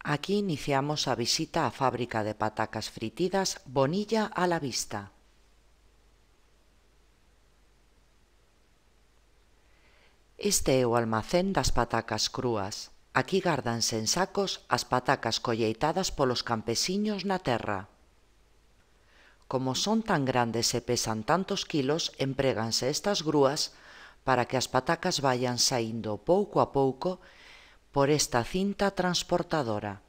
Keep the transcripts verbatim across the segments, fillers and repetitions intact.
Aquí iniciamos a visita á fábrica de patacas fritidas Bonilla a la Vista. Este é o almacén das patacas crúas. Aquí gárdanse en sacos as patacas colleitadas polos campesiños na terra. Como son tan grandes e pesan tantos quilos, empréganse estas grúas para que as patacas vayan saíndo pouco a pouco por esta cinta transportadora.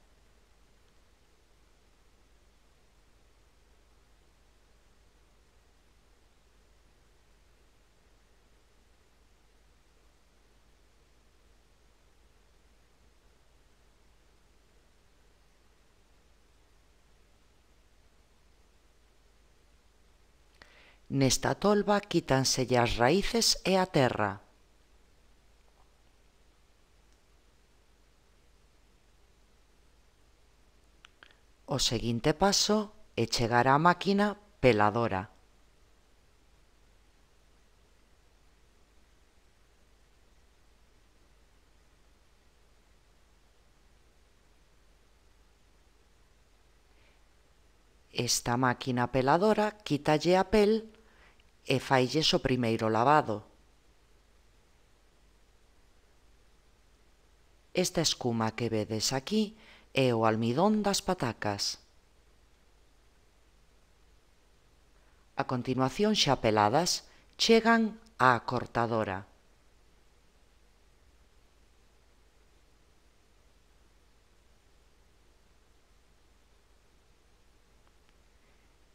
Nesta tolva quítanselle as raíces e a terra. O seguinte paso é chegar á máquina peladora. Esta máquina peladora quítalle a pel e failles o primeiro lavado. Esta escuma que vedes aquí é o almidón das patacas. A continuación, xa peladas, chegan á cortadora.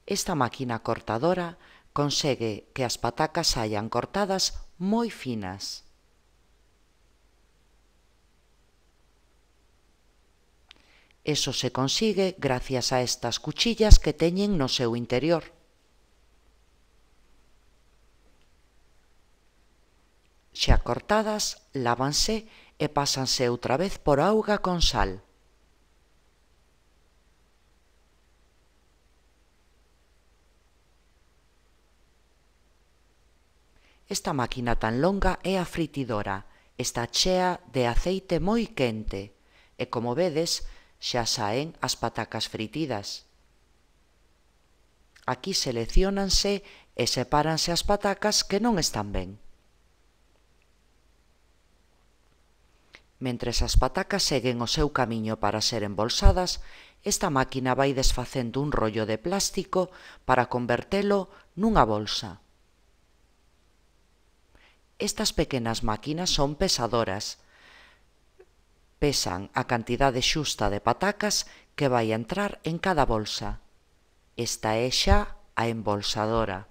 Esta máquina cortadora consegue que as patacas saian cortadas moi finas. Eso se consigue gracias a estas cuchillas que teñen no seu interior. Xa cortadas, lávanse e pásanse outra vez por auga con sal. Esta máquina tan longa é a fritidora. Está chea de aceite moi quente e, como vedes, xa saen as patacas fritidas. Aquí selecciónanse e sepáranse as patacas que non están ben. Mentres as patacas seguen o seu camiño para ser embolsadas, esta máquina vai desfacendo un rollo de plástico para convertelo nunha bolsa. Estas pequenas máquinas son pesadoras. Pesan a cantidade xusta de patacas que vai entrar en cada bolsa. Esta é xa a embolsadora.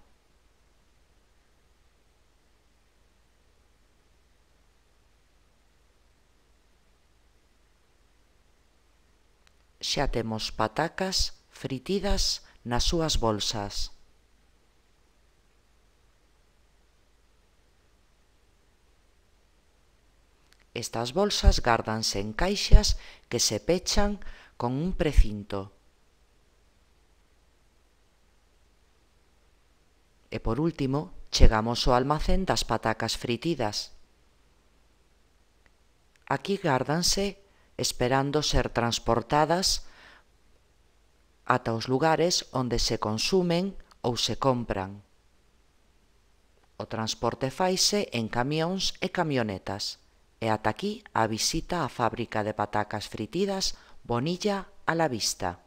Xa temos patacas fritidas nas súas bolsas. Estas bolsas gárdanse en caixas que se pechan con un precinto. E por último, chegamos ao almacén das patacas fritidas. Aquí gárdanse esperando ser transportadas ata os lugares onde se consumen ou se compran. O transporte faise en camións e camionetas. E ata aquí a visita á fábrica de patacas fritidas Bonilla a la Vista.